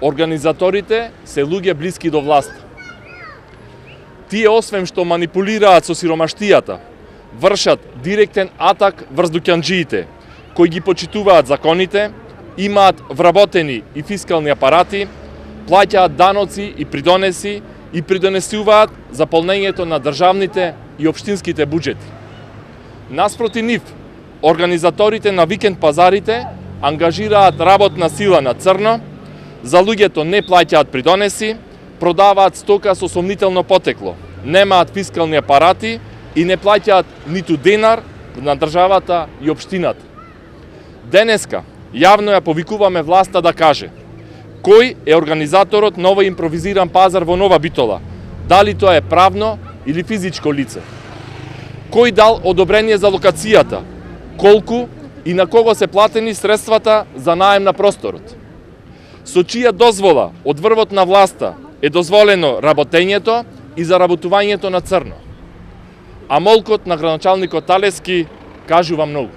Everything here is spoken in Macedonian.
Организаторите се луѓе блиски до власт. Тие освен што манипулираат со сиромаштијата, вршат директен атак врз дуќанџиите, кои ги почитуваат законите, имаат вработени и фискални апарати, плаќаат даноци и придонеси и придонесуваат за полнењето на државните и општинските буџети. Наспроти нив, организаторите на викенд пазарите ангажираат работна сила на црно, за луѓето не плаќаат придонеси, продаваат стока со сомнително потекло, немаат фискални апарати и не плаќаат ниту денар на државата и општината. Денеска јавно ја повикуваме власта да каже кој е организаторот на овој импровизиран пазар во Нова Битола, дали тоа е правно или физичко лице. Кој дал одобрение за локацијата, колку и на кого се платени средствата за наем на просторот. Со чија дозвола од врвот на власта е дозволено работењето и заработувањето на црно. А молкот на градоначалникот Талески кажува многу.